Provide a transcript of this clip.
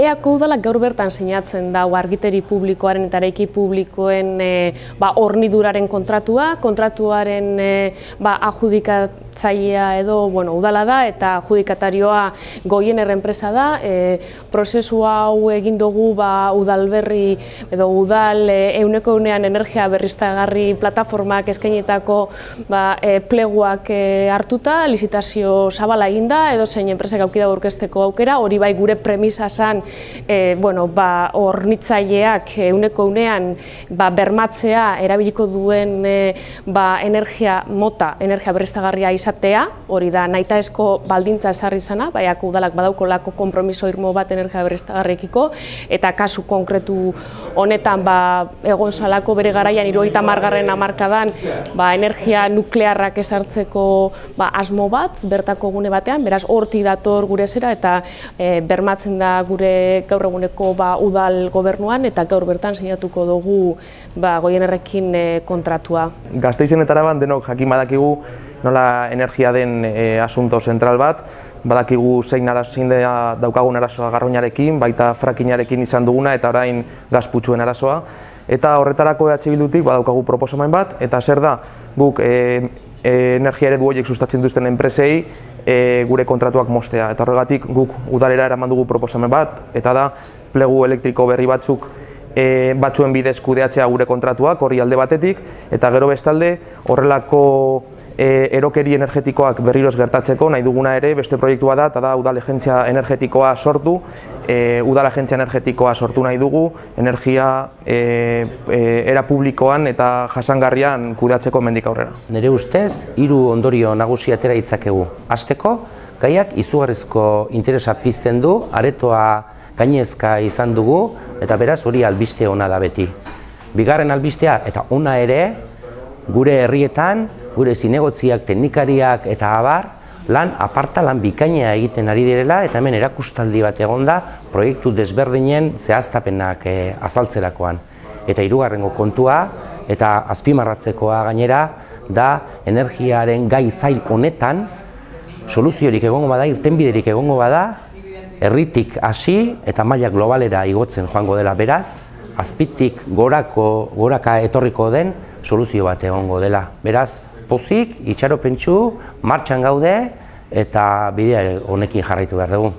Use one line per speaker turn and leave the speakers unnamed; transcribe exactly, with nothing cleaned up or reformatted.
Eako udalak gaur bertan sinatzen da argiteri publikoaren eta eraiki publikoen horniduraren kontratua, kontratuaren adjudikatzailea edo udala da eta adjudikatarioa Goiener enpresa da. Prozesu hau egin dugu udalberri edo udal ehuneko ehunean energia berriztagarri plataformak eskainitako pleguak hartuta, lizitazio zabala eginda edo zein enpresak auki dago aurkezteko aukera, hori bai gure premisa zan hornitzaileak ehuneko ehunean bermatzea erabiliko duen energia mota, energia berriztagarria izatea, hori da nahitaezko baldintza ezarri izana, Eako udalak badaukolako konpromiso irmo bat energia berriztagarriekiko, eta kasu konkretu honetan egon zalako bere garaian hirurogeita hamargarren hamarkadan energia nuklearrak ezartzeko asmo bat, bertako gune batean, beraz hortik dator gure zera eta bermatzen da gure gaur eguneko udal gobernuan eta gaur bertan sinatuko dugu Goienerrekin kontratua.
Gasteizen eta Araban denok jakin badakigu nola energia den asunto zentral bat, badakigu zein daukagun arazoa Garroñarekin, baita frackinarekin izan duguna eta orain gazputzuen arazoa. Eta horretarako E H Bildutik badaukagu proposamen bat, eta zer da guk energia eredu horiek sustatzen duzten enpresei gure kontratuak moztea. Eta horregatik guk udalera eraman dugu proposamen bat, eta da plegu elektriko berri batzuk batzuen bidez kudeatzea gure kontratuak, hori alde batetik, eta gero bestalde horrelako erokeri energetikoak berriroz gertatzeko nahi duguna ere beste proiektua da, eta da udal agentzia energetikoa sortu, udal agentzia energetikoa sortu nahi dugu, energia era publikoan eta jasangarrian kudeatzeko hemendik aurrera.
Nire ustez, hiru ondorio nagusi atera ditzakegu. Hasteko, gaiak izugarrizko interesa pizten du, aretoa gainezka izan dugu, eta beraz hori albiste ona da beti. Bigarren albistea, eta ona ere, gure herrietan, gure zinegotziak, teknikariak eta abar, lan aparta, lan bikainea egiten ari direla, eta hemen erakustaldi bat egonda proiektu desberdinen zehaztapenak azaltzerakoan. Eta hirugarrengo kontua, eta azpimarratzekoa gainera, da energiaren gai zail honetan, soluziorik egongo bada, irtenbiderik egongo bada, herritik hasi eta maila globalera igotzen joango dela beraz, azpitik gorako, goraka etorriko den soluzio bat egongo dela. Beraz, pozik, itxaropentsu, martxan gaude eta bidea honekin jarraitu behar dugu.